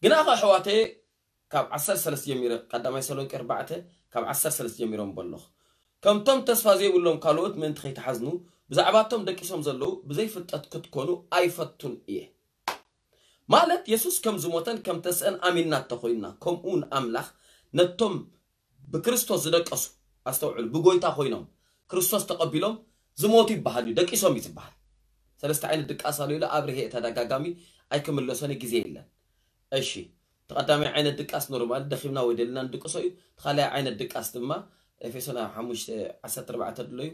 ግና ኸ ኣሕዋተየ ካብ ዓሰርተ ሰለስተ ጀሚረ፣ ቀዳማይ ተሰሎንቄ ኣርባዕተ ካብ ዓሰርተ ሰለስተ ጀሚሮም በሎኹ። ከምቶም ተስፋ ዘይብሎም ካልኦት ምእንቲ ከይትሓዝኑ፣ ብዛዕባቶም ደቂሶም ዘለዉ ብዘይፍልጠት ክትኮኑ ኣይፈቱን እየ። ማለት የሱስ ከም ዝሞተን ከም ተስአን ኣሚንና እንተኾይንና፣ ከምኡ እውን ኣምላኽ ነቶም ብክርስቶስ ዝደቀሱ፣ ኣስተውዕሉ፣ ብጎይታ ኮይኖም ክርስቶስ ተቐቢሎም ዝሞቱ ይበሃል እዩ፣ ደቂሶም እዩ ዝበሃል። ሰለስተ ዓይነት ድቃስ ኣሎ ኢሉ ኣብርሄ ተደጋጋሚ ኣይክምለሶን ግዜ የለን። እሺ፣ እቲ ቀዳማይ ዓይነት ድቃስ ኖርማል ደኺምና ወይ ደልና ንድቅሶ እዩ። እቲ ካልኣይ ዓይነት ድቃስ ድማ ኤፌሶን ሓሙሽተ ዓሰርተ ኣርባዕተ ድሎ እዩ።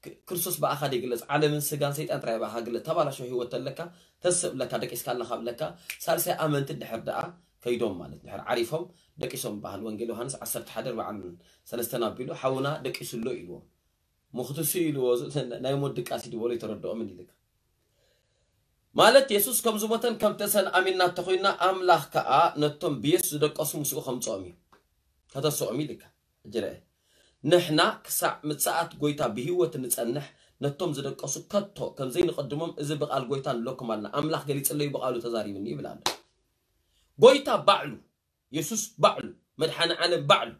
ክ- ክርስቶስ ብኣኻ ይግለጽ፣ ዓለምን ስጋን ሰይጣን ጥራይ ብኣኻ ግለጽ። ተባላሾ ህይወት ኣለካ፣ ተስእ ብለካ፣ ደቂስካ ኣለኻ ብለካ። ሳልሳይ ኣመንቲ ድሕር ደኣ ከይዶም ማለት ድሕር ዓሪፎም ደቂሶም በሃል። ወንጌል ዮሃንስ ዓሰርተ ሓደ ኣርባዓን ሰለስተን ኣቢሉ ሓውና ደቂሱ ኣሎ ኢልዎም። ምኽትሱ ኢልዎ ዝ- ናይ ሞት ድቃስ እዩ ዝበሎ ይተረድኦምን ኢልካ። ማለት የሱስ ከም ዝሞተን ከም ተሰን ኣሚንና እንተኾይንና፣ ኣምላኽ ከኣ ነቶም ብየሱስ ዝደቀሱ ምስኡ ከምጽኦም እዩ፣ ከተስኦም እዩ ኢልካ። ሕጂ ርአ፣ ንሕና ክሳዕ ምጽኣት ጎይታ ብህይወት ንጸንሕ፣ ነቶም ዝደቀሱ ከቶ ከም ዘይንቐድሞም እዚ ብቓል ጎይታ ንብለኩም ኣለና። ኣምላኽ ገሊጽለይ፣ ብቓሉ ተዛሪብኒ ይብል ኣሎ። ጎይታ ባዕሉ፣ የሱስ ባዕሉ፣ መድሓኒ ዓለም ባዕሉ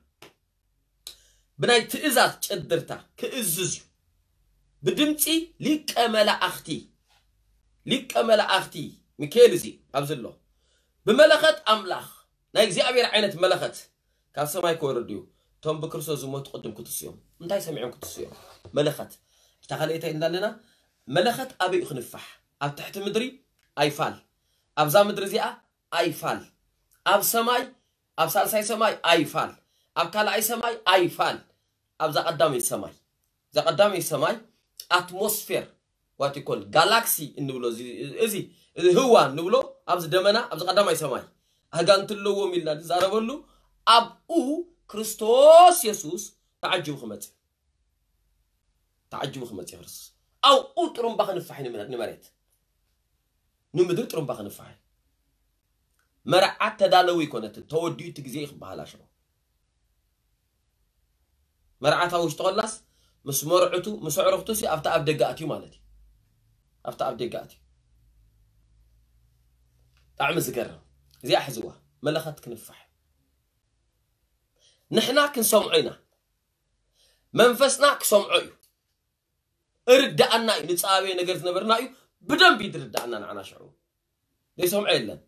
ብናይ ትእዛዝ ጨድርታ ክእዝዝ እዩ። ብድምፂ ሊቀ መላእኽቲ፣ ሊቀ መላእኽቲ ሚካኤል እዚ ኣብዚ ኣሎ። ብመለኸት ኣምላኽ፣ ናይ እግዚኣብሔር ዓይነት መለኸት ካብ ሰማይ ክወርድ እዩ። እቶም ብክርስቶስ ዝሞቱ ቅድም ክትስዮም። እንታይ ሰሚዖም ክትስዮም? መለኸት። እታ ካልኣይታይ እንዳለና፣ መለኸት ኣበይ እዩ ክንፋሕ? ኣብ ትሕቲ ምድሪ ኣይፋል። ኣብዛ ምድሪ እዚኣ ኣይፋል። ኣብ ሰማይ፣ ኣብ ሳልሳይ ሰማይ ኣይፋል። ኣብ ካልኣይ ሰማይ ኣይፋል። ኣብዛ ቀዳመይቲ ሰማይ፣ እዛ ቀዳመይቲ ሰማይ ኣትሞስፌር፣ ዋት ይኮል ጋላክሲ እንብሎ እዚ፣ እዚ፣ እዚ ህዋ እንብሎ ኣብዚ ደመና፣ ኣብዚ ቀዳማይ ሰማይ ኣጋንንቲ ኣለዎም ኢልና ዝዛረበሉ፣ ኣብኡ ክርስቶስ የሱስ ተዓጅቡ ክመጽእ፣ ተዓጅቡ ክመጽእ ክርስቶስ ኣብኡ ጥሩምባ ክንፋሕ ንመ- ንመሬት፣ ንምድሪ ጥሩምባ ክንፋሕ። መርዓት ተዳለዉ ይኮነትን፣ ተወዲኡ እቲ ግዜ ክበሃል ኣሽዑ። መርዓት ኣብ ውሽጢ ኮላስ ምስ መርዕቱ ምስ ኣዕሩኽቱ ሲ ኣብቲ ኣብ ደገ ኣትዩ ማለት እዩ። ኣብቲ ኣብ ደገ ኣትዩ። ብጣዕሚ ዝገርም። እዚኣ ሕዝዋ፣ መለኸት ክንፋሕ። ንሕና ክንሰምዖ ኢና። መንፈስና ክሰምዖ እዩ። እርዳኣና እዩ። ንጻበየ ነገር ዝነበርና እዩ። ብደንብ እዩ ዝርዳኣና ንዓና ሽዑ። ዘይሰምዖ የለን።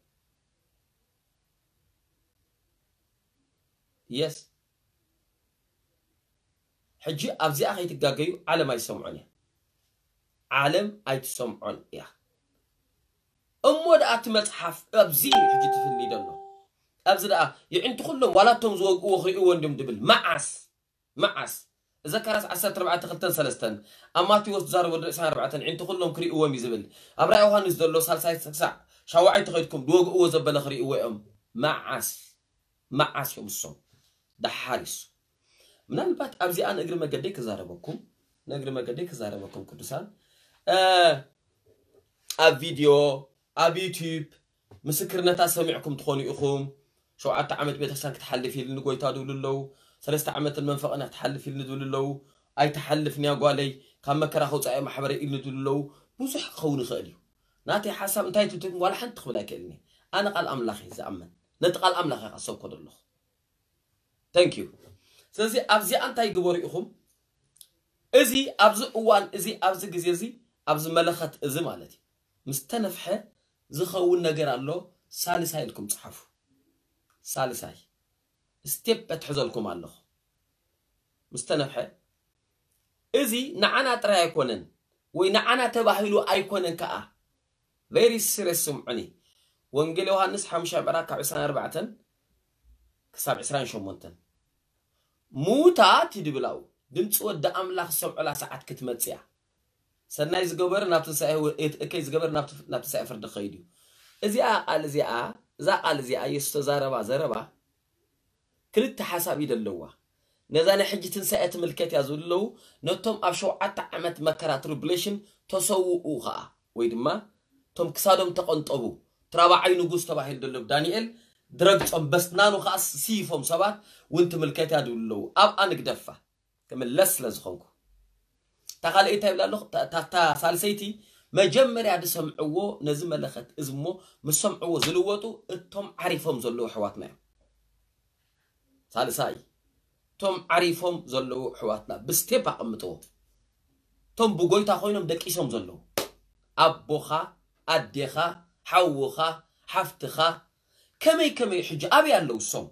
የስ። ሕጂ ኣብዚኣ ከይትጋገዩ፣ ዓለም ኣይትሰምዖን እያ። ዓለም ኣይትሰምዖን እያ። እሞ ደኣ እቲ መጽሓፍ ኣብዚ እዩ ሕጂ ትፍሊ ደሎ። ኣብዚ ደኣ የዒንቲ ኩሎም ዋላ እቶም ዝወግእዎ ክርእይዎ እንድም ድብል። መዓስ? መዓስ? ዘካርያስ ዓሰርተ ኣርባዕተ ክልተን ሰለስተን፣ ኣብ ማቴዎስ ዝዛረቦ ወዲ ዕስራን ኣርባዕተን፣ የዒንቲ ኩሎም ክርእይዎም እዩ ዝብል። ኣብ ራእይ ዮሃንስ ዘሎ ሳልሳይ ክሳዕ ሻውዓይ ተኸድኩም ዝወግእዎ ዘበለ ክርእይዎ እዮም። መዓስ? መዓስ እዮም እሶም? ደሓር ይሱ። ምናልባት ኣብዚኣ ንእግሪ መገደይ ክዛረበኩም፣ ንእግሪ መገደይ ክዛረበኩም ቅዱሳን፣ እ፣ ኣብ ቪድዮ፣ ኣብ ዩቲዩብ ምስክርነታት ሰሚዕኩም ትኾኑ ኢኹም። ሸውዓተ ዓመት ቤተክርስትያን ክትሓልፍ ኢልኒ ጎይታ ዝብሉ ኣለዉ። ሰለስተ ዓመትን መንፈቕና ክትሓልፍ ኢልኒ ዝብሉ ኣለዉ። ኣይትሓልፍን እያ ጓለይ፣ ካብ መከራ ከውፃእ እየ ማሕበረይ ኢልኒ ዝብሉ ኣለዉ። ብዙሕ ክኸውን ይኽእል እዩ። ናተይ ሓሳብ እንታይ ትብትም ዋላ ሓንቲ ክብል ኣይክእልን እየ። ኣነ ቃል ኣምላኽ እየ ዝኣምን። ነቲ ቃል ኣምላኽ እየ ክሰብኮ ዘለኹ። Thank you። ስለዚ ኣብዚኣ እንታይ ግበሩ ኢኹም? እዚ ኣብዚ እዋን እዚ፣ ኣብዚ ግዜ እዚ፣ ኣብዚ መለኸት እዚ ማለት እዩ፣ ምስ ተነፍሐ ዝኸውን ነገር ኣሎ። ሳልሳይ ኢልኩም ጽሓፉ። ሳልሳይ ስቴፕ እትሕዘልኩም ኣለኹ። ምስ ተነፍሐ፣ እዚ ንዓና ጥራይ ኣይኮነን ወይ ንዓና ተባሂሉ ኣይኮነን ከኣ። ቬሪ ሲሪየስ ስምዑኒ። ወንጌል ዮሃንስ ሓሙሻይ ምዕራፍ ካብ ዕስራን ኣርባዕተን ክሳብ ዕስራን ሸሞንተን፣ ምዉታት ይድብላው፣ ድምፂ ወዲ ኣምላኽ ዝሰምዑላ ሰዓት ክትመፅእ እያ። ሰናይ ዝገበረ ናብ ትንሳኤ ህይወት፣ እከይ ዝገበረ ናብ ትፍ- ናብ ትንሳኤ ፍርዲ ክኸይድ እዩ። እዚኣ ቃል እዚኣ፣ እዛ ቃል እዚኣ የሱስ ተዛረባ ዘረባ ክልተ ሓሳብ እዩ ዘለዋ። ነዛ ናይ ሕጂ ትንሳኤ ትምልከት እያ ዝብሉ ኣለዉ። ነቶም ኣብ ሸውዓተ ዓመት መከራ ትሪቡሌሽን ተሰውኡ ኸኣ፣ ወይ ድማ እቶም ክሳዶም ተቐንጠቡ፣ እቲ ራብዓይ ንጉስ ተባሂሉ ዘሎ ዳንኤል ድረግጾም በስናኑ ኸኣ ስይፎም ሰባት እውን ትምልከት እያ ዝብሉ ኣለዉ። ኣብኣ ንግደፋ፣ ክምለስ ስለ ዝኾንኩ። እታ ካልኣይቲ እንታይ ይብላ ኣለኹ? እታ- እታ እታ ሳልሰይቲ መጀመርያ ዝሰምዕዎ ነዚ መለኸት እዚ እሞ ምስ ሰምዕዎ ዝልወጡ እቶም ዓሪፎም ዘለዉ ኣሕዋትና እዮም። ሳልሳይ፣ እቶም ዓሪፎም ዘለዉ ኣሕዋትና ብስቴፕ ኣቐምጥዎ። እቶም ብጎይታ ኮይኖም ደቂሶም ዘለዉ ኣቦኻ፣ ኣዴኻ፣ ሓውኻ፣ ሓፍትኻ፣ ከመይ ከመይ ሕጂ ኣበይ ኣለዉ እሶም?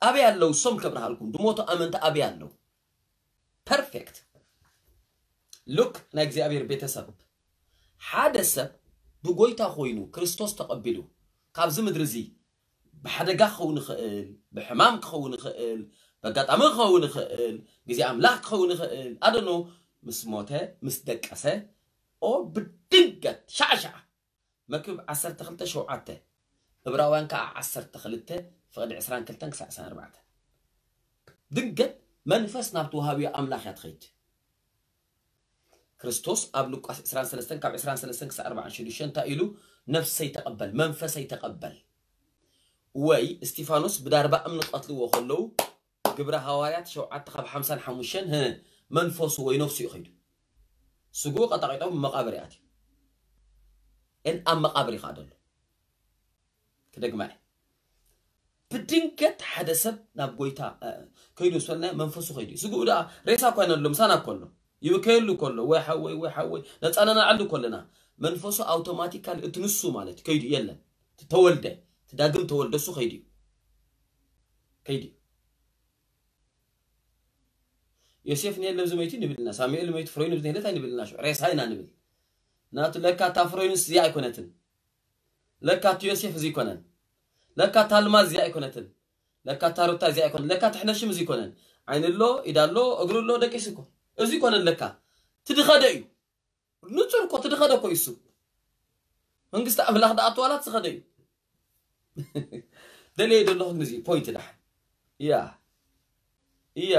ኣበይ ኣለዉ እሶም? ከብርሃልኩም ድሞቱ ኣመንቲ ኣበይ ኣለዉ? ፐርፌክት ሉክ ናይ እግዚኣብሔር ቤተሰብ፣ ሓደ ሰብ ብጎይታ ኮይኑ ክርስቶስ ተቐቢሉ ካብዚ ምድሪ እዚ ብሓደጋ ክኸውን ይኽእል፣ ብሕማም ክኸውን ይኽእል፣ በጋጣሚ ክኸውን ይኽእል፣ ግዜ ኣምላኽ ክኸውን ይኽእል፣ ኣደኖ ምስ ሞተ ምስ ደቀሰ ኦር ብድንገት ሻዕሻዕ መክብብ ዓሰርተ ክልተ ሸውዓተ እብራውያን ከዓ ዓሰርተ ክልተ ፍቕዲ ዕስራን ክልተን ክሳዕ ዕስራን ኣርባዕተን ድንገት መንፈስ ናብቲ ወሃብዮ ኣምላኽ እያ ትኸይድ። ክርስቶስ ኣብ ሉቃስ ዕስራን ሰለስተን ካብ ዕስራን ሰለስተን ክሳዕ ኣርባዓን ሽዱሽተን እንታይ ኢሉ? ነፍሰይ ተቐበል፣ መንፈሰይ ተቐበል። ወይ እስቲፋኖስ ብዳርባ እምኒ ቀትልዎ ከለዉ ግብረ ሃዋርያት ሸውዓተ ካብ ሓምሳን ሓሙሽተን ህ መንፈሱ ወይ ነፍሱ እዩ ኸይዱ። ስግኡ ቀጣቂጦም መቓብር ይኣትዩ። እን ኣብ መቓብር ይኸኣ ደሎ። ክደግማ እየ። ብድንገት ሓደ ሰብ ናብ ጎይታ ከይዱ ምስ በልና መንፈሱ ከይዱ እዩ። ስግኡ ደኣ ሬሳ እኳ ይነሎ ምሳና እኮ ኣሎ። ይብከየሉ ከሎ ወይ ሓወይ ወይ ሓወይ ነፃናናዓሉ ከለና መንፈሱ ኣውቶማቲካሊ እቲ ንሱ ማለት ከይዱ የለን። ተወልደ፣ እቲ ዳግም ተወልደ እሱ ከይዱ እዩ። ከይዱ እዩ። ዮሴፍ ንየለ ብዚ መይቱ ንብልና፣ ሳሙኤል መይቱ ፍሮይኑ ብዚ ነለት ኣይንብልና፣ ሽዑ ሬሳ ኢና ንብል። ናቱ ለካ እታ ፍሮይኑስ እዚኣ ኣይኮነትን። ለካ እቲ ዮሴፍ እዚ ይኮነን። ለካ እታ ኣልማዝ እዚኣ ኣይኮነትን። ለካ እታ ሩታ እዚኣ ኣይኮነን። ለካ እቲ ሕነሽም እዚ ይኮነን። ዓይኒ ኣሎ፣ ኢዳ ኣሎ፣ እግሩ ኣሎ፣ ደቂሱ እኮ። እዚ ይኮነን ለካ። ትድኸደ እዩ። ንጹር እኮ ትድኸደ እኮ እዩ እሱ። መንግስቲ ኣምላኽ ደኣ ኣትዋላት ዝኸደ እዩ። ደልየ ዘለኹ ግን እዚ ፖይንት ደሓን። እያ። እያ።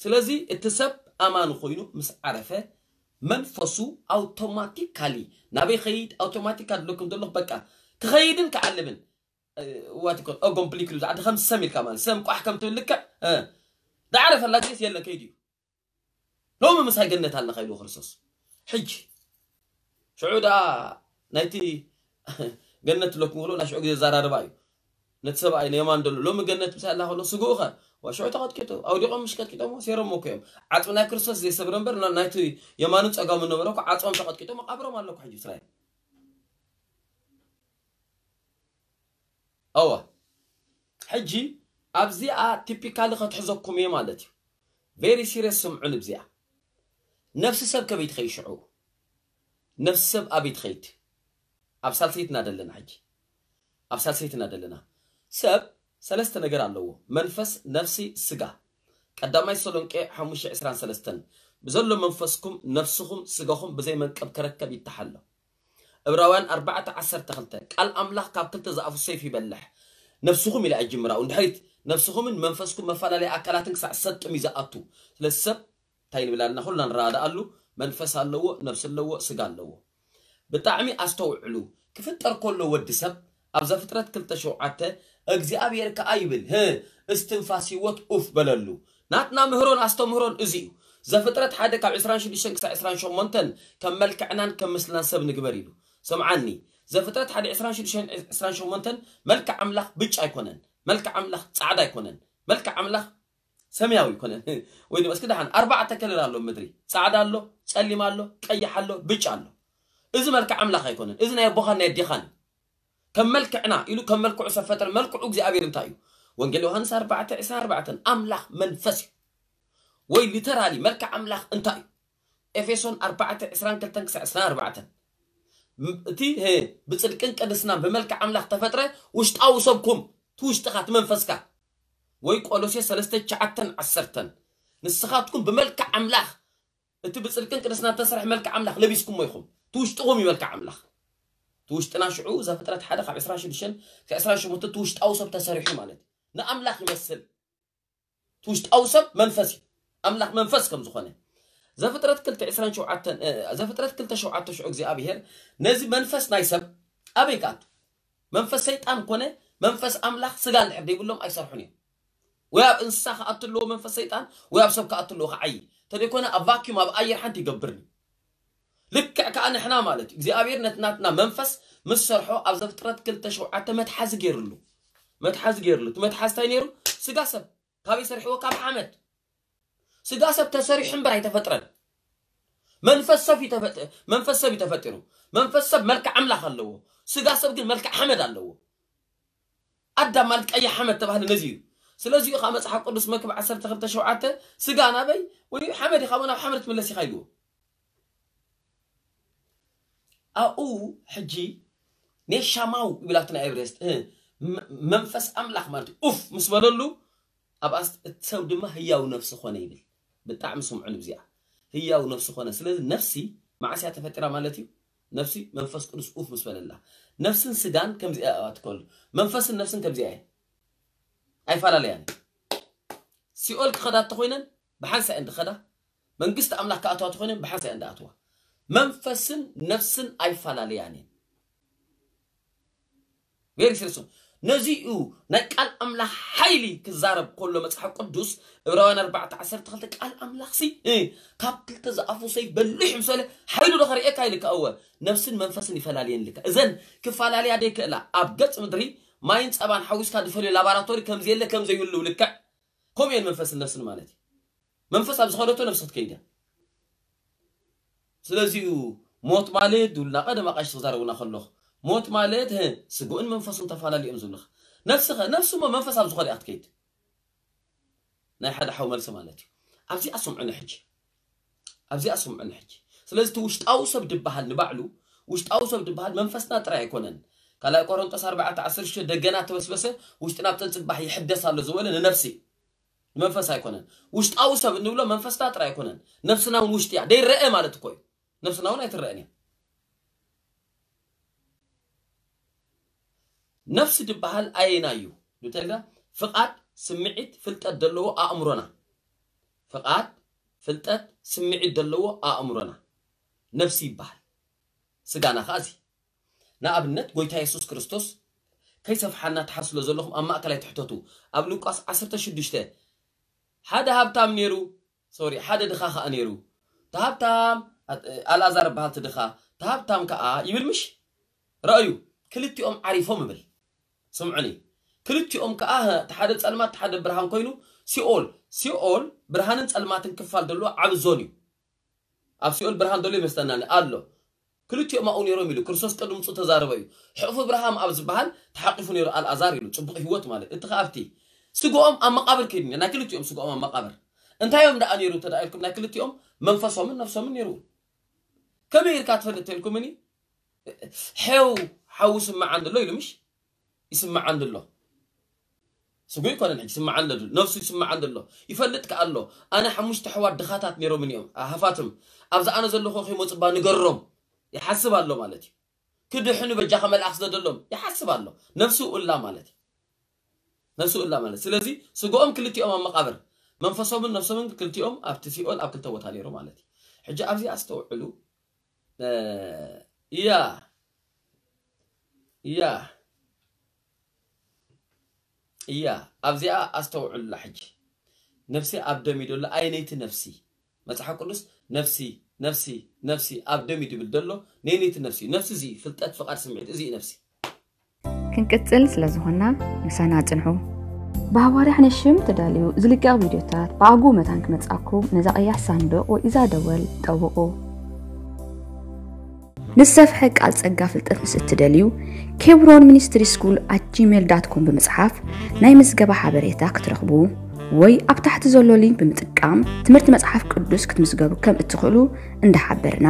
ስለዚ እቲ ሰብ ኣማኒ ኮይኑ ምስ ዓረፈ መንፈሱ ኣውቶማቲካሊ ናበይ ኸይድ? ኣውቶማቲካሊ ዝብለኩም ዘለኹ በቃ ክኸይድን ክዓልብን ዋት ኮን ኦጎምፕሊክሉ ዝዓዲ ከም ሰም ኢልካ ማለት ሰም ቋሕ ከም ትብል ልክዕ እ፣ ዝዓረፈላ ግዜስ የለን ከይዱ እዩ። ሎሚ ምሳይ ገነት ኣለኻ ኢሉ ክርስቶስ። ሕጂ ሽዑ ደኣ ናይቲ ገነት ትለኩም ከሎ ናይ ሽዑ ግዜ ዘራርባ እዩ። ነቲ ሰብኣይ ንየማን ደሎ ሎሚ ገነት ምሳይ ኣላ ከሎ ስግኡ ኸ ዋ ሽዑ ተቐጥቂጡ ኣውዲቖም ምሽ ቀጥቂጦሞ ሴሮሞ እኮ እዮም። ዓጽሚ ናይ ክርስቶስ ዘይሰብረ እምበር ና- ናይቲ የማኑ ጸጋሙ ነበረ እኮ ዓጽሞም ተቐጥቂጦም መቓብሮም ኣሎ እኮ ሕጂ እስራኤል። እወ ሕጂ ኣብዚኣ ቲፒካሊ ከትሕዘኩም እየ ማለት እዩ። ቬሪ ሲሪየስ ስምዑን እብዚኣ። ነፍሲ ሰብ ከበይ ትኸይድ ሽዑ? ነፍሲ ሰብ ኣበይ ትኸይድ? ኣብ ሳልሰይቲ ኢና ደለና ሕጂ። ኣብ ሳልሰይቲ ኢና ደለና። ሰብ ሰለስተ ነገር ኣለዎ። መንፈስ፣ ነፍሲ፣ ስጋ። ቀዳማይ ተሰሎንቄ ሓሙሽተ ዕስራን ሰለስተን ብዘሎ መንፈስኩም ነፍስኹም ስጋኹም ብዘይ መንቀብ ክረከብ ይተሓሎ። እብራውያን ኣርባዕተ ዓሰርተ ክልተ ቃል ኣምላኽ ካብ ክልተ ዝኣፉ ሰይፍ ይበልሕ። ነፍስኹም ኢላ እጅምራኡ እንድሕሪት ነፍስኹምን መንፈስኩም መፈላለይ ኣካላትን ክሳዕ ሰጥም እዩ ዝኣቱ። ስለዚ ሰብ እንታይ ንብል ኣለና? ኩልና ንረዳድኣሉ መንፈስ ኣለዎ፣ ነፍሲ ኣለዎ፣ ስጋ ኣለዎ። ብጣዕሚ ኣስተውዕሉ። ክፍጠር ከሎ ወዲ ሰብ ኣብ ዘፍጥረት ክልተ ሸውዓተ እግዚኣብሔር ከኣ ይብል ህ እስትንፋስ ህይወት ኡፍ በለሉ። ናትና ምህሮን ኣስተምህሮን እዚ እዩ። ዘፍጥረት ሓደ ካብ ዕስራን ሽዱሽተን ክሳዕ ዕስራን ሸሞንተን ከም መልክዕናን ከም ምስልናን ሰብ ንግበር ኢሉ። ሰምዓኒ። ዘፍጥረት ሓደ ዕስራን ሽዱሽተን ዕስራን ሸሞንተን መልክዕ ኣምላኽ ብጫ ኣይኮነን። መልክዕ ኣምላኽ ጻዕዳ ኣይኮነን። መልክዕ ኣምላኽ ሰማያዊ ኣይኮነን። ወይ ድማ እስኪ ደሓን ኣርባዕተ ከለር ኣሎ ምድሪ። ጻዕዳ ኣሎ፣ ጸሊም ኣሎ፣ ቀይሕ ኣሎ፣ ብጫ ኣሎ። እዚ መልክዕ ኣምላኽ ኣይኮነን። እዚ ናይ ኣቦኻን ናይ ኣዴኻን እዩ። ከም መልክዕና ኢሉ ከም መልክዑ ሰብ ፈጠረ። መልክዑ እግዚኣብሔር እንታይ እዩ? ወንጌል ዮሃንስ ኣርባዕተ ዕስራን ኣርባዕተን ኣምላኽ መንፈስ እዩ። ወይ ሊተራሊ መልክዕ ኣምላኽ እንታይ እዩ? ኤፌሶን ኣርባዕተ ዕስራን ክልተን ክሳዕ ዕስራን ኣርባዕተን ም- እቲ ህ- ብጽድቅን ቅድስናን ብመልክዕ ኣምላኽ ተፈጥረ ውሽጣዊ ሰብኩም፣ እቲ ውሽጥኻ፣ እቲ መንፈስካ። ወይ ቆሎሴ ሰለስተ ትሽዓተን ዓሰርተን ንስኻትኩም ብመልክዕ ኣምላኽ እቲ ብጽድቅን ቅድስናን ተሰርሐ መልክዕ ኣምላኽ ለቢስኩሞ ኢኹም። እቲ ውሽጥኹም እዩ መልክዕ ኣምላኽ። እቲ ውሽጥና ሽዑ ዘፍጥረት ሓደ ካብ ዕስራን ሽዱሽተን ክሳዕ ዕስራን ሸሞንተን እቲ ውሽጣዊ ሰብ ተሰሪሑ ማለት እዩ። ንኣምላኽ ይመስል። እቲ ውሽጣዊ ሰብ መንፈስ እዩ። ኣምላኽ መንፈስ ከም ዝኾነ ዘፍጥረት ክልተ ዕስራን ሸውዓተን እ፣ ዘፍጥረት ክልተ ሸውዓተ ሽዑ እግዚኣብሔር ነዚ መንፈስ ናይ ሰብ ኣበይ ክኣቱ? መንፈስ ሰይጣን ኮነ መንፈስ ኣምላኽ ስጋ እንድሕር ዘይብሎም ኣይሰርሑን እዮም። ወይ ኣብ እንስሳ ክኣቱ ኣለዎ መንፈስ ሰይጣን ወይ ኣብ ሰብ ክኣቱ ኣለዎ ክዓይ። ተደይኮነ ኣብ ቫኪዩም ኣብ ኣየር ሓንቲ ይገብርኒ። ልክዕ ከዓ ንሕና ማለት እዩ እግዚኣብሔር ነቲ ናትና መንፈስ ምስ ሰርሖ ኣብ ዘፍጥረት ክልተ ሸውዓተ መትሓዚ ገይርሉ። መትሓዚ ገይርሉ። እቲ መትሓዚ እንታይ ነይሩ? ስጋ ሰብ ካበይ ሰሪሕዎ? ካብ ሓመድ። ስጋ ሰብ ተሰሪሑ እምበር ኣይተፈጥረን። መንፈስ ሰብ እዩ ተፈጥ- መንፈስ ሰብ እዩ ተፈጢሩ። መንፈስ ሰብ መልክዕ ኣምላኽ ኣለዎ። ስጋ ሰብ ግን መልክዕ ሓመድ ኣለዎ። ኣዳም ማለት ቀይሕ ሓመድ ተባህለ ነዚ እዩ። ስለዚ እዩ ከዓ መፅሓፍ ቅዱስ መክብብ ዓሰርተ ክልተ ሸውዓተ ስጋ ናበይ ወይ ሓመድ ኢኻ ናብ ሓመድ ትምለስ ኢኻ ኢልዎ። ኣብኡ ሕጂ ኔሻማው ይብላትና ኤብሬስት መንፈስ ኣምላኽ ማለት እዩ። ኡፍ ምስ በለሉ ኣብኣስ እቲ ሰብ ድማ ህያው ነፍሲ ኾነ ይብል። ብጣዕሚ ስምዑ ንብዚኣ ህያው ነፍሲ ኾነ። ስለዚ ነፍሲ መዓስ እያ ተፈጢራ ማለት እዩ? ነፍሲ መንፈስ ቅዱስ ኡፍ ምስ በለላ። ነፍስን ስጋን ከምዚኣ እያ ትከሉ። መንፈስን ነፍስን ከምዚኣ እየ ኣይፈላለያን። ሲኦል ክኸዳ እንተኾይነን ብሓንሳ እየን ዝኸዳ። መንግስቲ ኣምላኽ ክኣትዋ እንተኾይነን ብሓንሳ እየን ዝኣትዋ። መንፈስን ነፍስን ኣይፈላለያን እየን። ቬሪ ሲሪየስ። ነዚ እዩ ናይ ቃል ኣምላኽ ሓይሊ ክዛረብ ከሎ መጽሓፍ ቅዱስ ዕብራውያን ኣርባዕተ ዓሰርተ ክልተ ቃል ኣምላኽ ሲ እ፣ ካብ ክልተ ዝኣፉ ሰይፍ በሊሕ ምስ በለ ሓይሉ ዶ ከርእየካ ኢልካ እወ ነፍስን መንፈስን ይፈላልየን ኢልካ እዘን ክፈላለያ ደይክእላ ኣብ ገጽ ምድሪ ማይን ጸባን ሓዊስካ ዝፈልዮ ላባራቶሪ ከም ዘየለ ከም ዘይብሉ ልክዕ ከምኡ እየን መንፈስን ነፍስን ማለት እዩ። መንፈስ ኣብ ዝኸደቶ ነፍሲ ክትከይድ እያ። ስለዚኡ ሞት ማለት ድብሉና ቀደም ኣቃሽቲ ክዛረቡና ከለኹ ሞት ማለት ህ ስግኡን መንፈሱን ተፈላለዮም ዝብልኻ ነፍስኸ ነፍሲ እሞ መንፈስ ኣብ ዝኾነ እያ ክትከይድ። ናይ ሓደ ሓው መልሲ ማለት እዩ። ኣብዚኣ ስምዑኒ ሕጂ ኣብዚኣ ስምዑኒ ሕጂ ስለዚ እቲ ውሽጣዊ ሰብ ድበሃል ንባዕሉ ውሽጣዊ ሰብ ድበሃል መንፈስና ጥራይ ኣይኮነን። ካልኣይ ቆሮንጦስ ኣርባዕተ ዓሰርተ ሽዱሽተ ደገና ተበስበሰ ውሽጥና ብተን ጽባሕ ይሕደስ ኣሎ ዝበለ ንነፍሲ ንመንፈስ ኣይኮነን። ውሽጣዊ ሰብ እንብሎ መንፈስና ጥራይ ኣይኮነን። ነፍስና እውን ውሽጢ እያ ደይረአ ማለት እኮ እዩ። ነፍስና እውን ኣይትረአን እያ። ነፍሲ ዝበሃል ኣየና እዩ? ብተጋ ፍቓድ ስምዒት ፍልጠት ዘለዎ ኣእምሮና ፍቓድ ፍልጠት ስምዒት ዘለዎ ኣእምሮና ነፍሲ ይበሃል። ስጋና ከዓ እዚ ንኣብነት ጎይታ የሱስ ክርስቶስ ከይሰፍሓና ትሓስሎ ዘለኹም ኣብ ማእከላይ ትሕተቱ ኣብ ሉቃስ ዓሰርተ ሽዱሽተ ሓደ ሃብታም ነይሩ ሶሪ ሓደ ድኻ ከዓ ነይሩ እቲ ሃብታም ኣልኣዛር በሃል እቲ ድኻ እቲ ሃብታም ከዓ ይብል ምሽ ረኣዩ ክልቲኦም ዓሪፎም ይብል ስምዑኒ ክልቲኦም ከዓ እቲ ሓደ ፀልማት እቲ ሓደ ብርሃን ኮይኑ ሲኦል ሲኦል ብርሃንን ፀልማትን ክፋል ዘለዎ ዓብ ዞን እዩ ኣብ ሲኦል ብርሃን ዘሎ ይመስለና ኣሎ ክልቲኦም ኣብኡ ነይሮም ኢሉ ክርስቶስ ቅድሚ ምፅኡ ተዛረበ እዩ ሕቕፊ ብርሃም ኣብ ዝበሃል ተሓቂፉ ነይሩ ኣልኣዛር ኢሉ ፅቡቕ ህይወት ማለት እቲ ከኣብቲ ስግኦም ኣብ መቃብር ከይዱ ናይ ክልቲኦም ስግኦም ኣብ መቃብር እንታይ እዮም ደኣ ነይሩ ተዳ ኢልኩም ናይ ክልቲኦም መንፈሶምን ነፍሶምን ነይሩ ከመይ ኢልካ ትፈልጥ ተልኩምኒ ሐው ሓዊ ስምዓን ዘሎ ኢሉ ምሽ ይስምዓን ዘሎ ስጉ ይኮነን ሕጂ ይስምዓን ዘሎ ነፍሱ ይስምዓን ዘሎ ይፈልጥ ከኣ ኣሎ ኣነ ሓሙሽተ ኣሕዋት ድኻታት ነይሮምን እዮም ሃፋትም ኣብዚ ኣነ ዘለኹ ከይመፁባ ንገሮም ይሓስብ ኣሎ ማለት እዩ ክድሕኑ በጃኻ መልኣኽ ዝደደሎም ይሓስብ ኣሎ ነፍሱ እላ ማለት እዩ ነፍሱ እላ ማለት ስለዚ ስግኦም ክልቲኦም ኣብ መቃብር መንፈሶምን ነፍሶምን ክልቲኦም ኣብቲ ሲኦል ኣብ ክልተ ቦታ ነይሩ ማለት እዩ ሕጂ ኣብዚ ኣስተውዕሉ እያ እያ እያ ኣብዚኣ ኣስተውዕሉላ ሕጂ ነፍሲ ኣብ ደም እዩ ደሎ ኣየነይቲ ነፍሲ መፅሓፍ ቅዱስ ነፍሲ ነፍሲ ነፍሲ ኣብ ደም እዩ ድብል ደሎ ነየነይቲ ነፍሲ ነፍሲ እዚ ፍልጠት ፍቃድ ስምዒት እዚ እዩ ነፍሲ ክንቅጽል ስለ ዝኾንና ምሳና ጽንሑ። ብሃዋርያ ሕነሽም ተዳልዩ ዝልቀቕ ቪድዮታት ብኣግኡ መታን ክመጽኣኩም ነዛ ቀያሕ ሳንዱቕ ወይ እዛ ደወል ጠውቑ። ንዝሰፍሐ ቃል ጸጋ ፍልጠት ምስ እትደልዩ ኬብሮን ሚኒስትሪ ስኩል ኣት ጂሜል ዳት ኮም ብምጽሓፍ ናይ ምዝገባ ሓበሬታ ክትረኽቡ ወይ ኣብ ታሕቲ ዘሎ ሊንክ ብምጥቃም ትምህርቲ መጽሓፍ ቅዱስ ክትምዝገቡ ከም እትኽእሉ እንዳሓበርና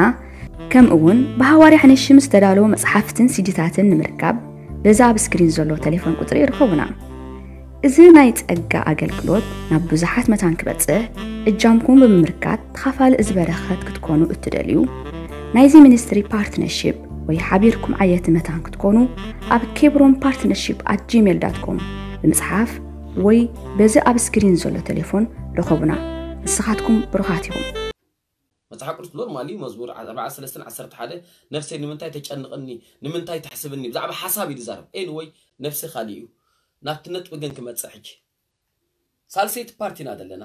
ከምኡ እውን ብሃዋርያ ሕነሽም ዝተዳለዉ መጽሓፍትን ሲዲታትን ንምርካብ በዚ ኣብ ስክሪን ዘሎ ተሌፎን ቁጽሪ ርኸቡና። እዚ ናይ ጸጋ ኣገልግሎት ናብ ብዙሓት መታን ክበጽሕ እጃምኩም ብምምርካት ተኻፋሊ እዚ በረኸት ክትኮኑ እትደልዩ ናይዚ ሚኒስትሪ ፓርትነርሺፕ ወይ ሓቢርኩም ዓየቲ መታን ክትኮኑ ኣብ ኬብሮን ፓርትነርሺፕ ኣት ጂሜል ዳት ኮም ብምጽሓፍ ወይ በዚ ኣብ ስክሪን ዘሎ ተሌፎን ርኸቡና። ንስኻትኩም ብሩኻት ኢኹም። መጽሓፍ ቅዱስ ኖርማሊ መዝሙር ኣርባዓ ሰለስተን ዓሰርተ ሓደ ነፍሰይ ንምንታይ ተጨንቕኒ ንምንታይ ተሕስብኒ ብዛዕባ ሓሳብ እዩ ዝዛረብ ኤንወይ ነፍሲ ካሊእ እዩ ናብቲ ነጥቢ ግን ክመጽእ ሕጂ ሳልሰይቲ ፓርት ኢና ዘለና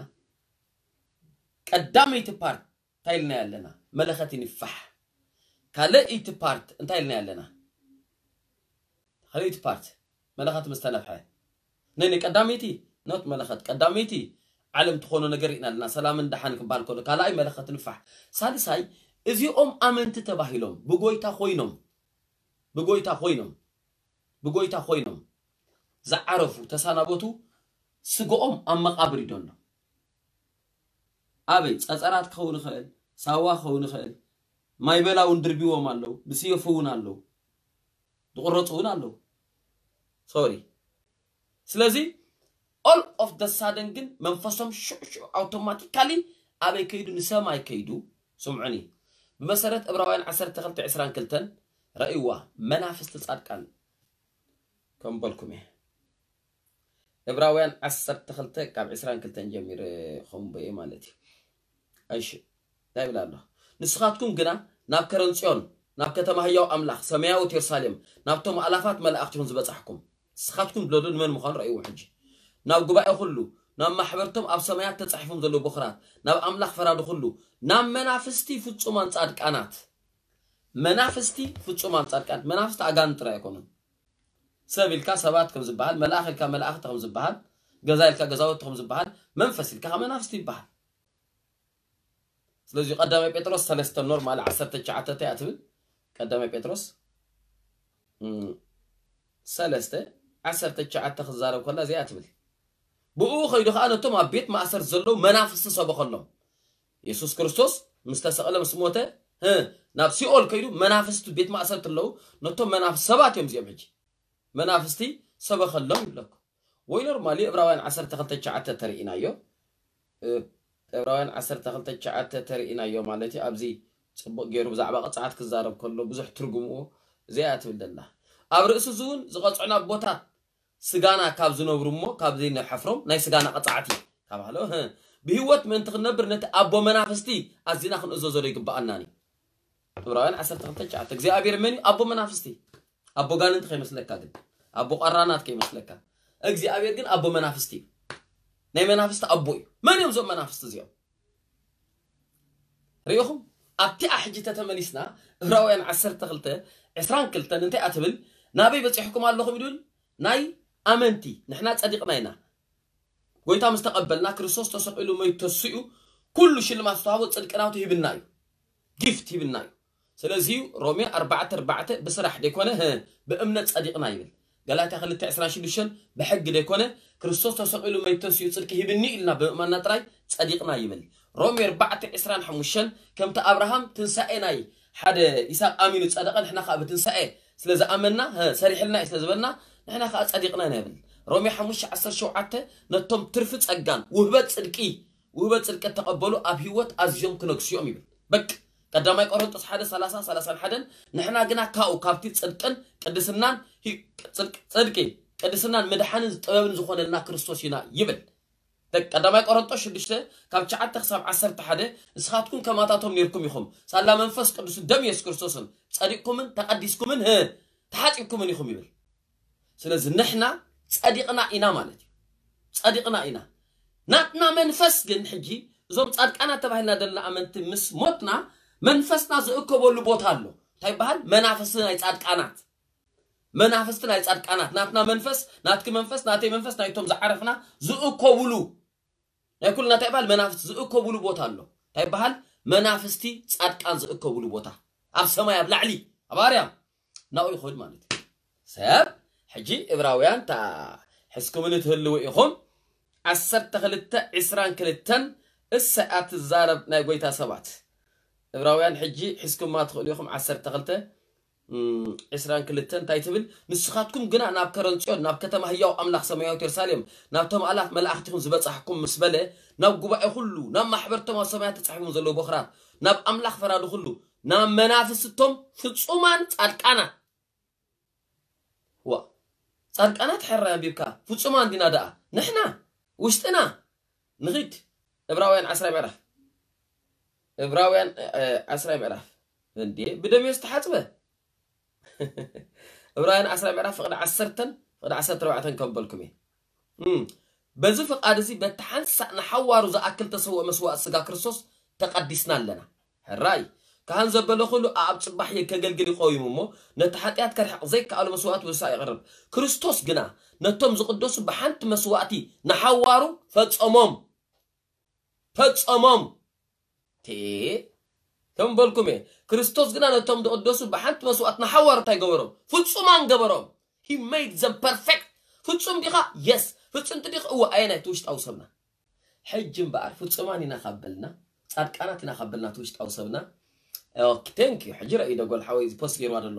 ቀዳመይቲ ፓርት እንታይ ኢልና ኣለና መለኸት ይንፋሕ ካልእይቲ ፓርት እንታይ ኢልና ኣለና? ካልእይቲ ፓርት መለኸት ምስ ተነፍሐ፣ ነኒ ቀዳመይቲ ኖት መለኸት ቀዳመይቲ ዓለም ትኾኖ ነገር ኢና ኣለና። ሰላምን ደሓን ክበሃል ከሎ ካልኣይ መለኸት ንፋሕ። ሳልሳይ እዚኦም ኣመንቲ ተባሂሎም ብጎይታ ኮይኖም ብጎይታ ኮይኖም ብጎይታ ኮይኖም ዝዓረፉ ተሳናበቱ ስግኦም ኣብ መቓብር ይደሎ። ኣበይ ጸጸራት ክኸውን ይኽእል፣ ሳዋ ክኸውን ይኽእል፣ ማይ በላ እውን ድርቢዎም ኣለዉ፣ ብስየፉ እውን ኣለዉ፣ ዝቕረጹ እውን ኣለዉ። ሶሪ። ስለዚ all of the sudden ግን መንፈሶም ሽዑ ሽዑ ኣውቶማቲካሊ ኣበይ ከይዱ? ንሰማይ ከይዱ። ስምዑኒ፣ ብመሰረት ዕብራውያን ዓሰርተ ክልተ ዕስራን ክልተን ረእይዋ መናፍስቲ ጻድቃን ከም በልኩም እየ። ዕብራውያን ዓሰርተ ክልተ ካብ ዕስራን ክልተን ጀሚረ ከምበየ ማለት እዩ። እሺ እንታይ ይብል ኣሎ? ንስኻትኩም ግና ናብ ከረን ጽዮን፣ ናብ ከተማ ህያው ኣምላኽ ሰማያዊት የሩሳሌም፣ ናብቶም ኣላፋት መላእኽቲ ኢኹም ዝበጻሕኩም። ንስኻትኩም ድለዱ ንመን ምዃኑ ረእይዎ ሕጂ። ናብ ጉባኤ ኩሉ፣ ናብ ማሕበርቶም ኣብ ሰማያት ተጻሒፎም ዘለዉ በኹራት፣ ናብ ኣምላኽ ፈራዲ ኩሉ፣ ናብ መናፍስቲ ፍጹማን ጻድቃናት። መናፍስቲ ፍጹማን ጻድቃናት። መናፍስቲ ኣጋንንቲ ጥራይ ኣይኮኑን። ሰብ ኢልካ ሰባት ከም ዝበሃል፣ መልኣኽ ኢልካ መላእኽቲ ከም ዝበሃል፣ ገዛ ኢልካ ገዛውቲ ከም ዝበሃል፣ መንፈስ ኢልካ ከኣ መናፍስቲ ይበሃል። ስለዚ ቀዳማይ ጴጥሮስ ሰለስተ ኖርማል ዓሰርተ ትሽዓተ እንታይ እያ ትብል? ቀዳማይ ጴጥሮስ እም፣ ሰለስተ ዓሰርተ ትሽዓተ ክዛረብ ከላ እዚኣ ትብል። ብኡ ከይዱ ከኣ ነቶም ኣብ ቤት ማእሰር ዘለዉ መናፍስቲ ሰበኸሎም። የሱስ ክርስቶስ ምስ ተሰቕለ ምስ ሞተ ህ፣ ናብ ሲኦል ከይዱ መናፍስቲ ቤት ማእሰርቲ ኣለዉ። ነቶም መናፍስቲ ሰባት እዮም እዚኦም ሕጂ መናፍስቲ ሰበኸሎም ይብለኩም። ወይ ኖርማሊ ዕብራውያን ዓሰርተ ክልተ ትሽዓተ ተርእይናዮ። እ፣ ዕብራውያን ዓሰርተ ክልተ ትሽዓተ ተርእይናዮ ማለት እዩ። ኣብዚ ጽቡቕ ገይሩ ብዛዕባ ቅጽዓት ክዛረብ ከሎ ብዙሕ ትርጉምዎ እዚኣ ትብል ደላ። ኣብ ርእሲ እዚ እውን ዝቐጽዑና ኣቦታት ስጋና ካብ ዝነብሩ እሞ ካብ ዘይንሓፍሮም ናይ ስጋና ቅጽዓት እዩ ካብ ሃሎ፣ ህ፣ ብህይወት ምእንቲ ክንነብር ነቲ ኣቦ መናፍስቲ ኣዚና ክንእዘዞ ዶ ይግብኣናን እዩ? ዕብራውያን ዓሰርተ ክልተ ትሽዓተ እግዚኣብሔር መን እዩ? ኣቦ መናፍስቲ። ኣቦ ጋንንቲ ከይመስለካ ግን፣ ኣቦ ቋራናት ከይመስለካ፣ እግዚኣብሔር ግን ኣቦ መናፍስቲ እዩ። ናይ መናፍስቲ ኣቦ እዩ። መን እዮም እዞም መናፍስቲ እዚኦም? ርኢኹም? ኣብቲ ኣሕጂ ተተመሊስና ዕብራውያን ዓሰርተ ክልተ ዕስራን ክልተን እንታይ ኣትብል? ናበይ በጺሕኩም ኣለኹም ይብል? ናይ ኣመንቲ ንሕና ጸዲቕና ኢና። ጎይታ ምስ ተቐበልና ክርስቶስ ተሰቒሉ መይቱ ተሲኡ ኩሉ ሽልማት ዝተዋህቦ ጽድቂ ናቱ ሂብና እዩ። ጊፍት ሂብና እዩ። ስለዚ ሮሜ ኣርባዕተ ኣርባዕተ ብስራሕ ደይኮነ፣ ህ፣ ብእምነት ጸዲቕና ይብል። ገላትያ ክልተ ዕስራን ሽዱሽተን ብሕጊ ደይኮነ ክርስቶስ ተሰቒሉ መይቱ ተሲኡ ጽድቂ ሂብኒ ኢልና ብምእማንና ጥራይ ጸዲቕና ይብል። ሮሜ ኣርባዕተ ዕስራን ሓሙሽተን ከምቲ ኣብርሃም ትንሳኤ ናይ ሓደ ይስሐቅ ኣሚኑ ጸደቐ፣ ንሕና ከኣ ብትንሳኤ ስለ ዝኣመንና፣ ህ፣ ሰሪሕልና እዩ ስለ ዝበልና ንሕና ከኣ ጸዲቕና ኢና ይብል። ሮሜ ሓሙሽተ ዓሰርተ ሸውዓተ ነቶም ትርፊ ጸጋን ውህበት ጽድቂ፣ ውህበት ጽድቂ እተቐበሉ ኣብ ህይወት ኣዝዮም ክነግሱ እዮም ይብል። በቅ ቀዳማይ ቆሮንጦስ ሓደ ሰላሳ ሰላሳን ሓደን ንሕና ግና ካብኡ ካብቲ ጽድቅን ቅድስናን ሂ-፣ ጽድቅ-፣ ጽድቂ ቅድስናን ምድሓንን ጥበብን ዝኾነልና ክርስቶስ ኢና ይብል። ደቅ ቀዳማይ ቆሮንጦስ ሽዱሽተ ካብ ትሽዓተ ክሳብ ዓሰርተ ሓደ ንስኻትኩም ከማታቶም ኔርኩም ኢኹም። ሳላ መንፈስ ቅዱስን ደም የሱስ ክርስቶስን ጸዲቕኩምን ተቐዲስኩምን፣ ህ፣ ተሓጺብኩምን ኢኹም ይብል። ስለዚ ንሕና ጸዲቕና ኢና ማለት እዩ። ጸዲቕና ኢና። ናትና መንፈስ ግን ሕጂ እዞም ጻድቃናት ተባሂልና ዘለና ኣመንቲ ምስ ሞትና መንፈስና ዝእከበሉ ቦታ ኣሎ። እንታይ ይበሃል? መናፍስቲ ናይ ጻድቃናት። መናፍስቲ ናይ ጻድቃናት። ናትና መንፈስ፣ ናትኪ መንፈስ፣ ናተይ መንፈስ፣ ናይቶም ዝዓረፍና ዝእከብሉ። ናይ ኩልና እንታይ ይበሃል? መናፍስቲ ዝእከብሉ ቦታ ኣሎ። እንታይ ይበሃል? መናፍስቲ ጻድቃን ዝእከብሉ ቦታ። ኣብ ሰማይ ኣብ ላዕሊ፣ ኣብ ኣርያም። ናብኡ ይኸድ ማለት እዩ። ሰብ ሕጂ ዕብራውያን እታ ሒዝኩምኒ ትህልዉ ኢኹም። ዓሰርተ ክልተ ዕስራን ክልተን እሰይ ኣትዛረብ ናይ ጎይታ ሰባት። ዕብራውያን ሕጂ ሒዝኩማ ትኽእሉ ኢኹም። ዓሰርተ ክልተ፣ እም፣ ዕስራን ክልተን እንታይ ትብል? ንስኻትኩም ግና ናብ ከረን ጽዮን፣ ናብ ከተማ ህያው ኣምላኽ ሰማያዊት የሩሳሌም፣ ናብቶም ኣእላፍ መላእኽቲኹም ዝበጻሕኩም ምስ በለ፣ ናብ ጉባኤ ኩሉ፣ ናብ ማሕበርቶም ኣብ ሰማያት ተጻሒፎም ዘለዉ በኹራት፣ ናብ ኣምላኽ ፈራዲ ኩሉ፣ ናብ መናፍስቶም ፍጹማን ጻድቃናት። ዋ፣ ጻድቃናት ሕራይ ኣንቢብካ፣ ፍጹማን ዲና ደኣ? ንሕና፣ ውሽጥና፣ ንኺድ። ዕብራውያን ዓስራይ ምዕራፍ። ዕብራውያን፣ እ፣ ዓስራይ ምዕራፍ። እንዴ፣ ብደም እዩ ዝተሓጽበ። ዕብራውያን ዓስራይ ምዕራፍ ፍቕዲ ዓሰርተን ፍቕዲ ዓሰርተ ኣርባዕተን ከንበልኩም እየ። እም፣ በዚ ፍቓድ እዚ በቲ ሓንሳእ ንሓዋሩ ዝኣክል ተሰውኦ መስዋእቲ ስጋ ክርስቶስ ተቐዲስና ኣለና። ሕራይ፣ ካህን ዘበለ ኩሉ ኣብ ጽባሕ ከገልግል ይቆይሙ እሞ፣ ነቲ ሓጢኣት ከርሕቕ ዘይከኣሎ መስዋእቲ ወሳ የቕርብ። ክርስቶስ ግና ነቶም ዝቕደሱ ብሓንቲ መስዋእቲ ንሓዋሩ ፈጸሞም። ፈጸሞም። ቴ ከም በልኩም እየ። ክርስቶስ ግና ነቶም ዝቕደሱ ብሓንቲ መስዋእቲ ንሓዋሩ እንታይ ገበሮም? ፍጹማን ገበሮም። He made them perfect። ፍጹም ዲኻ? የስ። ፍጽምቲ ዲኻ? እወ። ኣየናይ? እቲ ውሽጣዊ ሰብና። ሕጂ እምበኣር ፍጹማን ኢና ካብ በልና፣ ጻድቃናት ኢና ካብ በልና እቲ ውሽጣዊ ሰብና፣ ኦኬ፣ ቴንክ ዩ። ሕጂ ረእዩ ደጎል ሓወይ እዚ ፖስት ገይርዋ ዘሎ።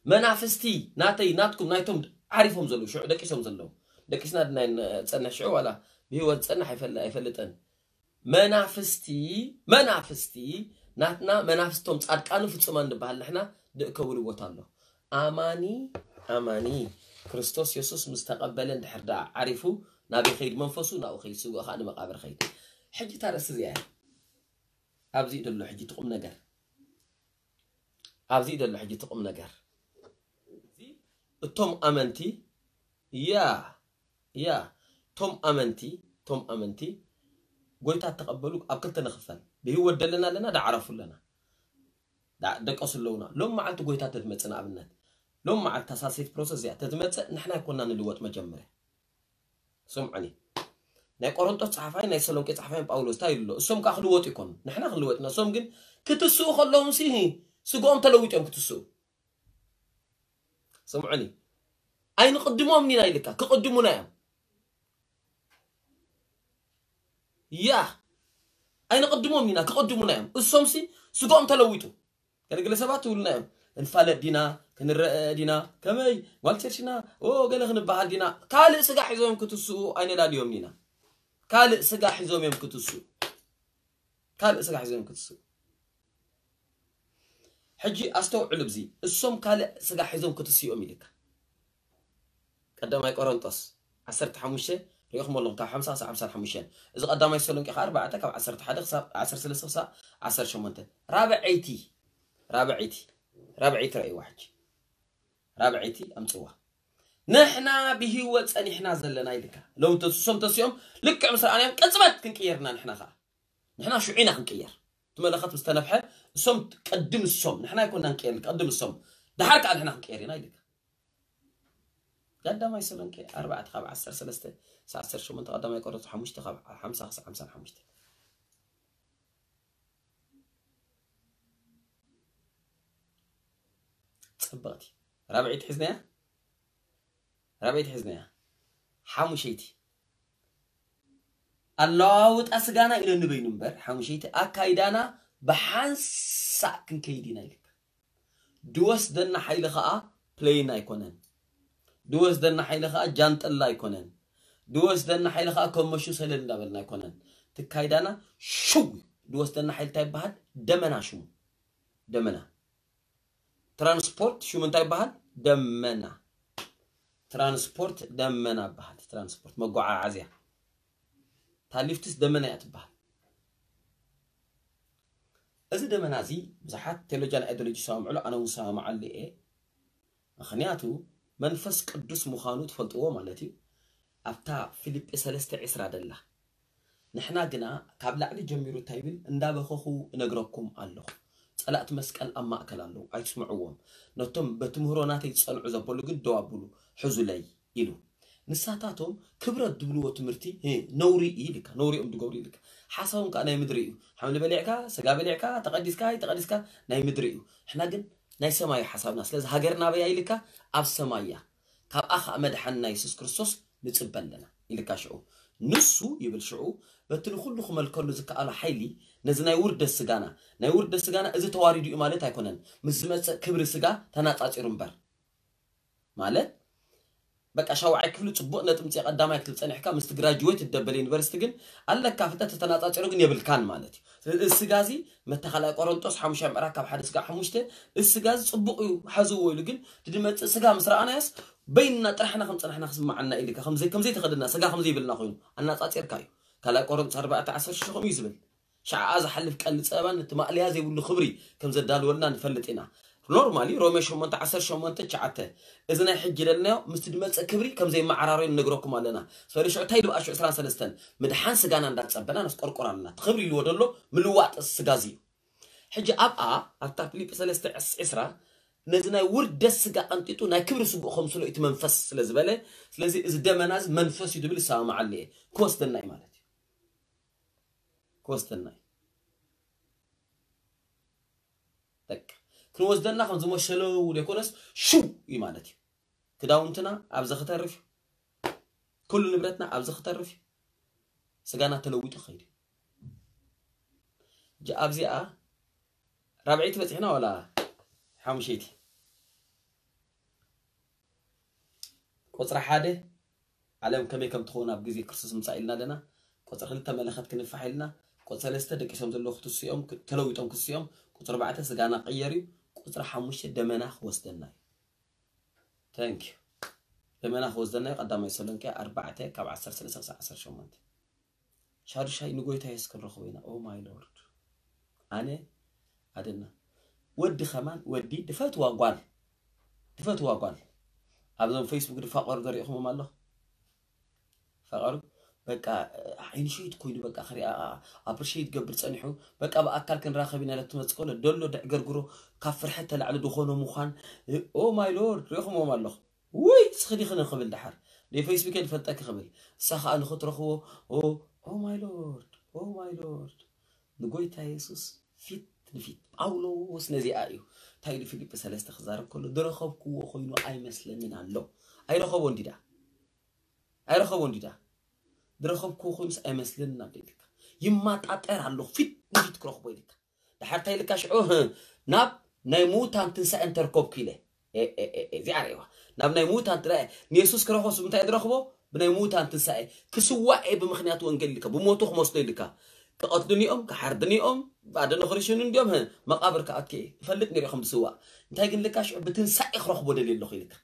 መናፍስቲ ናተይ፣ ናትኩም፣ ናይቶም ዓሪፎም ዘለዉ፣ ሽዑ ደቂሶም ዘለዉ። ደቂስና ድና ንጸንሕ ሽዑ ዋላ ብህይወት ዝጸንሕ ኣይፈል-፣ ኣይፈልጥን። መናፍስቲ፣ መናፍስቲ ናትና፣ መናፍስቶም ጻድቃኑ ፍጹማን ንበሃል ንሕና፣ ደእከብሉ ቦታ ኣሎ። ኣማኒ፣ ኣማኒ ክርስቶስ የሱስ ምስ ተቐበለ እንድሕር ደኣ ዓሪፉ፣ ናበይ ኸይድ መንፈሱ? ናብኡ ኸይድ፣ ስግኡ ኸኣ ንመቓብር ኸይድ። ሕጂ እታ ርእሲ እዚኣ እያ። ኣብዚ እዩ ዘሎ ሕጂ እቲ ቁም ነገር። ኣብዚ እዩ ዘሎ ሕጂ እቲ ቁም ነገር። እዚ እቶም ኣመንቲ፣ ያ፣ ያ፣ እቶም ኣመንቲ፣ እቶም ኣመንቲ ጎይታ እተቐበሉ ኣብ ክልተ ንኽፈል። ብህይወት ደለና ኣለና፣ ደዓረፉ ኣለና። ዳ-፣ ደቀሱ ኣለዉና። ሎም መዓልቲ ጎይታ ተትመጽእ ንኣብነት፣ ሎም መዓልቲ እታ ሳልሰይቲ ፕሮሰስ እዚኣ ተትመጽእ፣ ንሕና ኣይኮና ንልወጥ መጀመርያ። ስምዑኒ። ናይ ቆሮንጦስ ጸሓፋይ፣ ናይ ተሰሎንቄ ጸሓፋይ ጳውሎስ እንታይ ኢሉ ኣሎ? እሶም ከኣ ክልወጡ ይኮኑ። ንሕና ክንልወጥ ኢና። እሶም ግን ክትስኡ ከለዎም ሲ ስግኦም ተለዊጦም ክትስኡ። ስምዑኒ። ኣይንቕድሞም ኢና ኢልካ፣ ክቕድሙና እዮም። ያ። ኣይንቕድሞም ኢና፣ ክቕድሙና እዮም። እሶም ሲ ስግኦም ተለዊጡ። ገለገለ ሰባት ይብሉና እዮም። ክንፋለጥ ዲና፣ ክንረአ ዲና፣ ከመይ፣ ጓል ቸርች ኢና፣ ኦ፣ ገለ ክንበሃል ዲና። ካልእ ስጋ ሒዞም እዮም ክትስኡ ኣይነዳልዮም ኢና። ካልእ ስጋ ሒዞም እዮም ክትስኡ። ካልእ ስጋ ሒዞም እዮም ክትስኡ። ሕጂ ኣስተውዕሉ፣ ብዚ እሶም ካልእ ስጋ ሒዞም ክትስኡ እዮም ኢልካ። ቀዳማይ ቆሮንጦስ ዓሰርተ ሓሙሽተ ሪኢኹም ኣለኹም፣ ካብ ሓምሳ ክሳብ ሓምሳ ሓሙሽተ። እዚ ቀዳማይ ተሰሎንቄ ከኣ ኣርባዕተ ካብ ዓሰርተ ሓደ ክሳብ ዓሰርተ ሰለስተ ክሳብ ዓሰርተ ሸሞንተ። ራብዐይቲ፣ ራብዐይቲ፣ ራብዐይቲ ረእይዋ ሕጂ። ራብዐይቲ ኣምጽዋ። ንሕና ብህይወት ጸኒሕና ዘለና ኢልካ። ሎም ተስሶም ተሲኦም ልክዕ ምስ ረኣናዮም ቅጽበት ክንቅየርና ንሕና ከኣ። ንሕና ሽዑ ኢና ክንቅየር። እቲ መለኸት ምስ ተነፍሐ እሶም ቅድም እሶም፣ ንሕና ኣይኮና ንቅየር፣ ቅድም እሶም። ደሓር ከኣ ንሕና ክንቅየር ኢና ኢልካ። ቀዳማይ ተሰሎንቄ ኣርባዕተ ካብ ዓሰርተ ሰለስተ ክሳብ ዓሰርተ ሸሞንተ፣ ቀዳማይ ቆሮንቶስ ሓሙሽተ ካብ ሓምሳ ክሳብ ሓምሳ ሓሙሽተ። ጽብቕቲ። ራብዐይቲ ሒዝናያ? ራብዐይቲ ሒዝናያ? ሓሙሸይቲ። ኣለዋውጣ ስጋና ኢለኒ በይኑ እምበር፣ ሓሙሸይቲ ኣካይዳና ብሓንሳእ ክንከይድ ኢና ኢልካ። ድወስደና ሓይሊ ኸኣ ፕሌን ኣይኮነን። ድወስደና ሓይሊ ኸኣ ጃንጥላ ኣይኮነን። ድወስደና ሓይሊ ኸኣ ከመሹ ሰለል እንዳበልና ኣይኮነን። ትካይዳና ሽው እዩ። ድወስደና ሓይሊ እንታይ ይበሃል? ደመና ሽሙ። ደመና። ትራንስፖርት ሽሙ እንታይ ይበሃል? ደመና። ትራንስፖርት ደመና ይበሃል። ትራንስፖርት መጓዓዓዝያ። እታ ሊፍትስ ደመና እያ ትበሃል። እዚ ደመና እዚ ብዙሓት ቴዎሎጂያን ኣይዲዮሎጂ ይሰማምዕሉ፣ ኣነ እውን ሰማምዓሉ እየ። ምኽንያቱ መንፈስ ቅዱስ ምዃኑ ትፈልጥዎ ማለት እዩ። ኣብታ ፊልጲ ሰለስተ ዕስራ ደላ። ንሕና ግና ካብ ላዕሊ ጀሚሩ እንታይ ይብል? እንዳበኸኹ እነግረኩም ኣለኹ። ጸላእቲ መስቀል ኣብ ማእከል ኣለዉ፣ ኣይትስምዕዎም። ነቶም በትምህሮ ናተይ ዝጸንዑ ዘበሉ ግን ደው ኣብሉ፣ ሕዙለይ ኢሉ። ንሳታቶም ክብረት ዝብልዎ ትምህርቲ፣ እ፣ ነውሪ እዩ ኢልካ፣ ነውሪ እዮም ዝገብሩ ኢልካ። ሓሳቦም ከኣ ናይ ምድሪ እዩ። ሓምሊ በሊዕካ፣ ስጋ በሊዕካ፣ ተቐዲስካ፣ ኣይተቐዲስካ፣ ናይ ምድሪ እዩ። ንሕና ግን ናይ ሰማይ እዩ ሓሳብና። ስለዚ ሃገርና ኣበይ እያ ኢልካ፣ ኣብ ሰማይ እያ። ካብኣ ኸኣ መድሓንና የሱስ ክርስቶስ ንጽበ ኣለና ኢልካ ሽዑ። ንሱ ይብል ሽዑ፣ በቲ ንኹሉ ክመልከሉ ዝከኣሎ ሓይሊ፣ ነዚ ናይ ውርደት ስጋና፣ ናይ ውርደት ስጋና እዚ ተዋሪዱ እዩ ማለት ኣይኮነን። ምስ ዝመጽእ ክብሪ ስጋ ተናጻጺሩ እምበር። ማለት፣ በቃ ሻውዓይ ክፍሊ ጽቡቕ ነጥቢ ምጽእ ቀዳማይ ክትብል ጸኒሕካ፣ ምስቲ ግራጁዌት ትደበል ዩኒቨርሲቲ ግን ኣለካ ፍልጠት ተተናጻጺሩ ግን የብልካን ማለት እዩ። ስለዚ እዚ ስጋ እዚ መታ ካልኣይ ቆሮንጦስ ሓሙሻይ ምዕራፍ ካብ ሓደ ስጋ ሓሙሽተ፣ እዚ ስጋ እዚ ጽቡቕ እዩ፣ ሓዝዎ ኢሉ ግን እቲ ዝመጽእ ስጋ ምስ ረኣናዮስ በይንና ጥራሕና ከም ጸናሕና ክስምዓና ኢልካ፣ ከምዘይ-፣ ከምዘይተኸደና ስጋ ከምዘይብልና ኮይኑ ኣናጻጺርካ እዩ። ካልኣይ ቆሮንጦስ ኣርባዕተ ዓሰርተ ሽዱሽተ ከምኡ እዩ ዝብል። ሸዓ ዝሓልፍ ቀንዲ ጸበባን ነቲ ማእለያ ዘይብሉ ክብሪ ከም ዘዳልወልና ንፈልጥ ኢና። ኖርማሊ ሮሜ ሸሞንተ ዓሰርተ ሸሞንተ ትሽዓተ፣ እዚ ናይ ሕጂ ደለናዮ ምስቲ ዝመጽእ ክብሪ ከም ዘይመዓራረዩ ንነግረኩም ኣለና። ስለ ሽዑ እንታይ ይብል ኣሹ ዕስራን ሰለስተን፣ ምድሓን ስጋና እንዳጸበና ነስቆርቆር ኣለና። እቲ ክብሪ ኢልዎ ደሎ ምልዋጥ ስጋ እዚ እዩ። ሕጂ ኣብኣ ኣብታ ፊልጲ ሰለስተ ዕስራ ነዚ ናይ ውርደት ስጋ ቀንጢጡ ናይ ክብሪ ስግኡ ከምስሎ እቲ መንፈስ ስለ ዝበለ፣ ስለዚ እዚ ደመና እዚ መንፈስ እዩ ዝብል ይሰማማዓሉ እየ። ክወስደና እዩ ማለት እዩ። ክወስደና እዩ። በቃ ክንወስደና ከም ዝመሸለው ዘይኮነስ ሽው እዩ ማለት እዩ። ክዳውንትና ኣብዚ ክተርፍ እዩ። ኩሉ ንብረትና ኣብዚ ክተርፍ እዩ። ስጋና ተለዊጡ ክኸይድ እዩ። እጂ ኣብዚኣ ራብዐይቲ በፂሕና ዋላ ሓሙሸይቲ? ቁፅሪ ሓደ፣ ዓለም ከመይ ከም ትኸውን ኣብ ግዜ ክርስቶስ ምጻእ ኢልና ኣለና። ቁፅሪ ክልተ መለኸት ክንፋሕ ኢልና። ቁፅሪ ሰለስተ ደቂሶም ዘለዉ ክትስኦም፣ ክ- ተለዊጦም ክትስኦም። ቁፅሪ ኣርባዕተ ስጋና ቅየር እዩ። ቁፅሪ ሓሙሽተ ደመና ክወስደና እዩ። Thank you። ደመና ክወስደና እዩ። ቀዳማይ ተሰሎንቄ ኣርባዕተ ካብ ዓሰርተ ሰለስተ ክሳብ ዓሰርተ ሸሞንተ። ሻዱሻይ ንጎይታ የሱስ ክንረኽቦ ኢና። Oh my Lord። ኣነ ኣደና ወዲ ከማን ወዲ ድፈትዋ ጓል ድፈትዋ ጓል ኣብዞም ፌስቡክ ድፋቀሩ ዘሪእኹሞም ኣለኹ። ፈቀሩ በቃ ዓይኒ ሸይት ኮይኑ በቃ ክሪኣ ኣፕሪሼት ገብር ጸኒሑ። በቃ ብኣካል ክንራኸብ ኢና ለትመጽእ ከሎ ደሎ ድዕገርግሮ ካብ ፍርሐት ተላዕሊ ዝኾኖ ምዃን። Oh my Lord፣ ሪኹሞም ኣለኹ። ውይ ስኽዲ ክነ ክብል ድሓር ናይ ፌስቡክ ድፈልጠኪ ክብል እሳ ከዓ ንኽትረኽቦ። Oh my Lord፣ oh my Lord፣ ንጎይታ የሱስ ፊት ንፊት። ጳውሎስ ነዚኣ እዩ እንታይ ኢሉ ፊልጲ ሰለስተ ክዛረብ ከሎ ዝረኸብክዎ ኮይኑ ኣይመስለንን ኣሎ። ኣይረኸቦ እንዲዳ ኣይረኸቦ እንዲዳ ዝረኸብክዎ ኮይኑስ ኣይመስለንን ኣሎ ኢልካ። ይማጣጠር ኣለኹ ፊት ንፊት ክረኽቦ ኢልካ። ድሓር እንታይ ኢልካ ሽዑ ናብ ናይ ምዉታን ትንሳኤ እንተርከብኩ ኢለ። እዚኣ ርእዋ። ናብ ናይ ምዉታን ትንሳኤ ንየሱስ ክረኽቦስ ብምንታይ ዝረኽቦ? ብናይ ምዉታን ትንሳኤ። ክስዋእ እየ ብምኽንያት ወንጌል ኢልካ ብሞቱ ክመስሎ ኢልካ። ክቐትሉኒ እዮም ክሓርዱኒ እዮም። ባዶ ንኽርሽኑ እንዲዮም። መቓብር ክኣትከ እፈልጥ ነሪኦ ከም ዝስዋእ። እንታይ ግን ኢልካ ሽዑ ብትንሳኤ ክረኽቦ ደልየ ኣለኹ ኢልካ።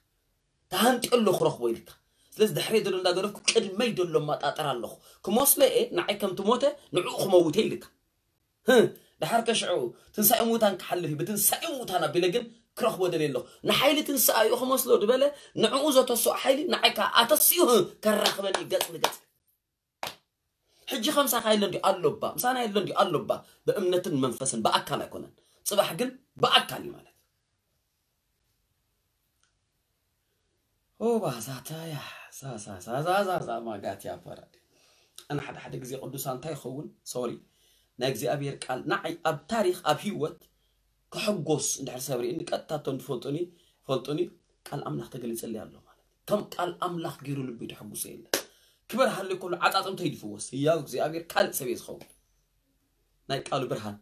ተሃንጥዮ ኣለኹ ክረኽቦ ኢልካ። ስለዚ ድሕሪ ዘሎ እንዳገደፍኩ ቅድመይ ዘሎ ማጣጠር ኣለኹ ክመስሎ እየ። ንዓይ ከም ትሞተ ንዕኡ ክመውተ ኢልካ። ድሓር ከሽዑ ትንሳኤ ምዉታን ክሓልፍ እዩ። ብትንሳኤ ምዉታን ኣቢለ ግን ክረኽቦ ደልየ ኣለኹ። ንሓይሊ ትንሳኤ እዩ ክመስሎ ዝበለ ንዕኡ ዘተስኦ ሓይሊ ንዓይ ከዓ ኣተሲኡ ከራኽበኒ እዩ ገጽ ንገጽ። ሕጂ ከምሳኻ የለ እንዲ ኣሎባ ምሳና የለ እንዲ ኣሎባ። ብእምነትን መንፈስን ብኣካል ኣይኮነን። ጽባሕ ግን ብኣካል እዩ ማለት። ኦባ ዛታያ ዛዛዛዛዛ ማጋትያ ፈራዲ። ኣነ ሓደ ሓደ ግዜ ቅዱሳን እንታይ ይኸውን ሶሪ ናይ እግዚኣብሔር ቃል ንዓይ ኣብ ታሪክ ኣብ ህይወት ክሕጎስ እንድሕር ሰብ ርእኒ ቀጥታ እቶም ዝፈልጡኒ ፈልጡኒ። ቃል ኣምላኽ ተገሊጸለይ ኣሎ ማለት ከም ቃል ኣምላኽ ገይሩ ልቢ ተሐጉሰ የለ። ክበርሃለይ ከሎ ዓጻጽምተይ ድፍወስ ህያው እግዚኣብሔር ካልእ ሰብ እየ ዝኸውን። ናይ ቃሉ ብርሃን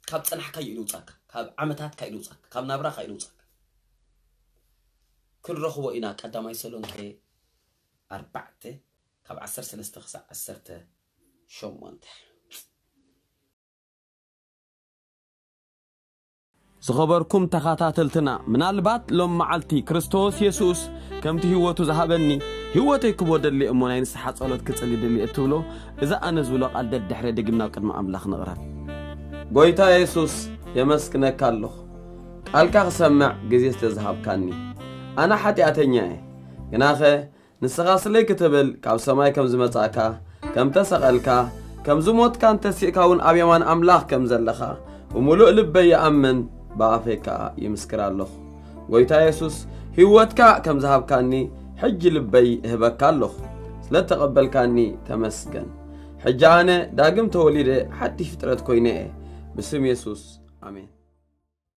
ካብ ጸናሕካዮ ኢሉ ውጻካ፣ ካብ ዓመታትካ ኢሉ ውጻካ፣ ካብ ናብራኻ ኢሉ ውጻካ። ክንረኽቦ ኢና። ቀዳማይ ተሰሎንቄ ኣርባዕተ ካብ ዓሰርተ ሰለስተ ክሳብ ዓሰርተ ሸሞንተ። ዝኸበርኩም ተኸታተልትና፣ ምናልባት ሎም መዓልቲ ክርስቶስ የሱስ ከምቲ ህይወቱ ዝሃበኒ ህይወተይ ክቦ ደሊ እሞ ናይ ንስሓ ጸሎት ክጽሊ ደሊ እትብሎ፣ እዚ ኣነ ዝብሎ ቃል ደድሕረ ድግም ናብ ቅድሚ ኣምላኽ ንቕረብ። ጎይታ የሱስ፣ የመስግነካ ኣለኹ፣ ቃልካ ክሰምዕ ግዜ ስለ ዝሃብካኒ። ኣነ ሓጢኣተኛ እየ፣ ግናኸ ንስኻ ስለይ ክትብል ካብ ሰማይ ከም ዝመጻእካ፣ ከም ተሰቐልካ፣ ከም ዝሞትካን ተሲእካ እውን ኣብ የማን ኣምላኽ ከም ዘለኻ ብምሉእ ልበይ ይኣምን፣ ብኣፈይ ከኣ ይምስክር ኣለኹ። ጎይታ የሱስ፣ ህይወትካ ከም ዝሃብካኒ ሕጂ ልበይ እህበካ ኣለኹ። ስለ እተቐበልካኒ ተመስገን። ሕጂ ኣነ ዳግም ተወሊደ ሓድሽ ፍጥረት ኮይነ እየ። ብስም የሱስ፣ ኣሜን።